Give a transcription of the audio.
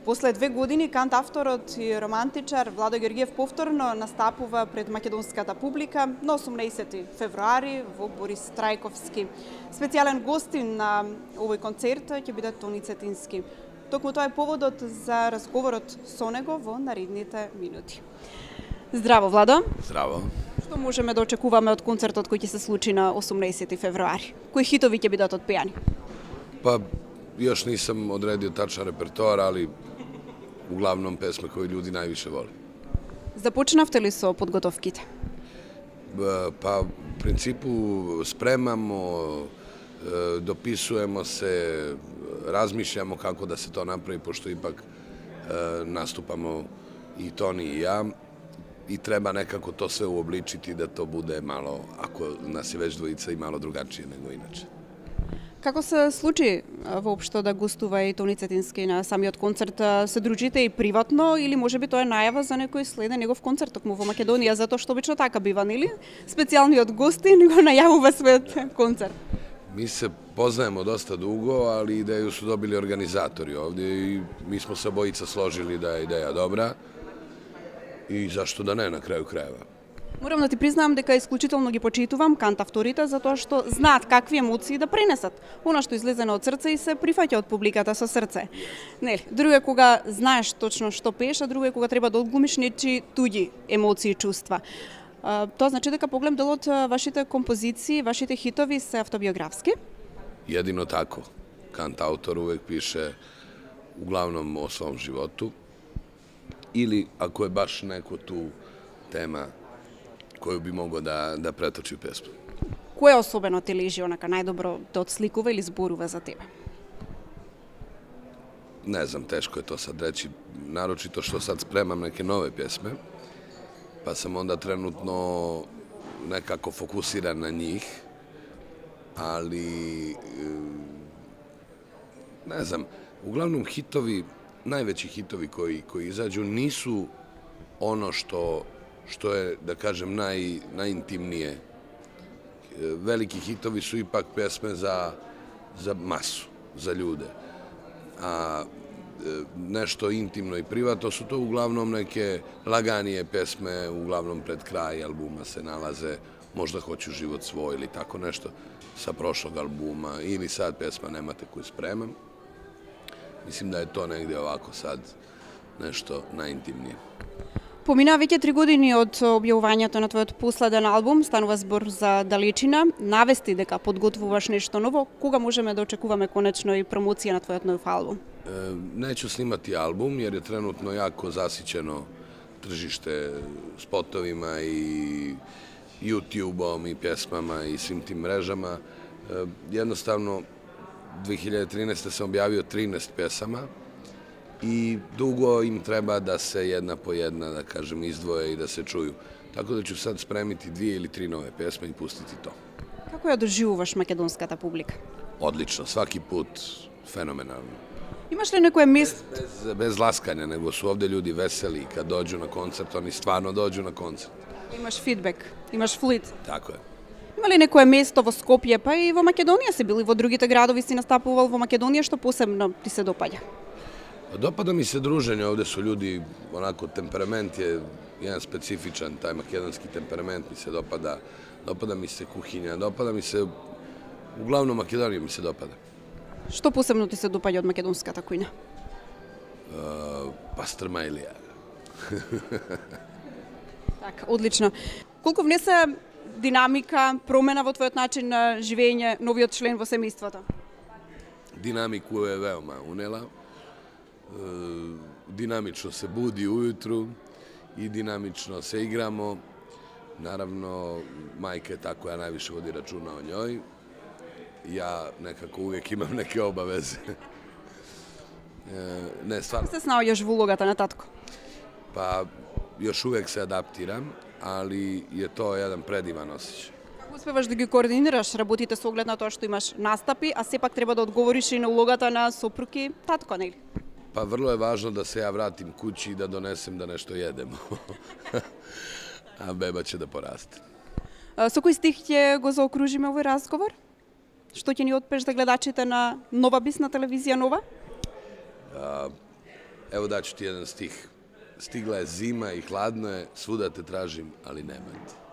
После 2 години кантавторот и романтичар Владо Георгиев повторно настапува пред македонската публика на 18 февруари во Борис Трајковски. Специјален гостин на овој концерт ќе биде Тони Цетински. Токму тоа е поводот за разговорот со него во наредните минути. Здраво, Владо. Здраво. Што можеме да очекуваме од концертот кој ќе се случи на 18 февруари? Кои хитови ќе бидат отпејани? Па, još nisam odredio tačan repertoar, ali uglavnom pesme koje ljudi najviše vole. Започнавте ли со подготовките? Pa, u principu spremamo, dopisujemo se, razmišljamo kako da se to napravi, pošto ipak nastupamo i Toni i ja, i treba nekako to sve uobličiti da to bude malo, ako nas je već dvojica, i malo drugačije nego inače. Како се случи воопшто да гостува и Тони Цетински на самиот концерт? Се дружите и приватно или можеби тоа е најава за некој следен негов концерт токму во Македонија, затоа што обично така бива, нели? Специјалниот гостин го најавува својот концерт. Mi se poznajemo dosta dugo, ali ideju su dobili organizatori ovdje i mi smo se obojica složili da je ideja dobra i zašto da ne na kraju krajeva. Морам да ти признам дека исклучително ги почитувам кантавторите затоа што знаат какви емоции да пренесат. Она што излезе од срце и се прифаќа од публиката со срце. Нели, друго е кога знаеш точно што пееш, а друго е кога треба да одглумиш нечии туѓи емоции и чувства. Тоа значи дека погледам дел од вашите композиции, вашите хитови се автобиографски? Jedino tako. Kantautor uvek piše uglavnom o svom životu ili ako je baš neko tu tema koju bi mogao da pretoči u pesmu. Кој особено ти лежи онака најдобро да отсликува или зборува за тебе? Ne znam, teško je to sad reći, naročito što sad spremam neke nove pjesme, pa sam onda trenutno nekako fokusiran na njih, ali ne znam, uglavnom hitovi, najveći hitovi koji izađu nisu ono što je, da kažem, najintimnije. Veliki hitovi su ipak pesme za masu, za ljude. A nešto intimno i privatno su to uglavnom neke laganije pesme, uglavnom pred kraj albuma se nalaze Možda hoću život svoj ili tako nešto sa prošlog albuma ili sad pesma Nemate koju spremam. Mislim da je to negdje ovako sad nešto najintimnije. Помина веќе 3 години од објавувањето на твојот последен албум, станува збор за Далечина. Навести дека подготвуваш нешто ново. Кога можеме да очекуваме конечно и промоција на твојот нов албум? Neću snimati album jer je trenutno jako zasićeno tržište spotovima i YouTube-om i pjesmama i svim tim mrežama. Jednostavno, 2013. sam objavio 13 pjesama i dugo im treba da se jedna po jedna, da kažem, izdvoje i da se čuju. Tako da ću sad spremiti 2 ili 3 nove pjesme i pustiti to. Како ја доживуваш македонската публика? Odlično, svaki put fenomenalno. Имаш ли некое место? Bez laskanja, nego su ovde ljudi veseli kad dođu na koncert, oni stvarno dođu na koncert. Имаш фидбек, имаш флит. Tako je. Има ли некое место во Скопје, па и во Македонија си бил и во другите градови си настапувал во Македонија, што посебно ти се допаѓа? Dopada mi se druženje, ovde su ljudi, onako, temperament je jedan specifičan, taj makedonski temperament mi se dopada, dopada mi se kuhinja, dopada mi se, uglavnom Makedonija mi se dopada. Што посебно ти се допаѓа од македонската кујна? Пастрма Илија. Така, одлично. Колку внесе динамика, промена во твојот начин на живење новиот член во семејството? Dinamiku je veoma unela. Dinamično se budi ujutru i dinamično se igramo. Naravno, majka je ta koja najviše vodi računa o njoj. Ja nekako uvijek imam neke obaveze. Ne, stvarno. Kako se snaoѓаш во улогата на татко? Pa, još uvijek se adaptiram, ali je to jedan predivan osjećaj. Како успеваш да ги координираш работите со оглед на тоа што имаш настапи, а сепак треба да одговориш и на улогата на сопруг и татко, нели? Pa vrlo je važno da se ja vratim kući i da donesem da nešto jedemo. A beba će da poraste. Со кој стих ќе го заокружиме овој разговор? Што ќе ни отпеш за гледачите на Нова Бис на телевизија Нова? Evo daću ti jedan stih. Stigla je zima i hladno je, svuda te tražim, ali nema te.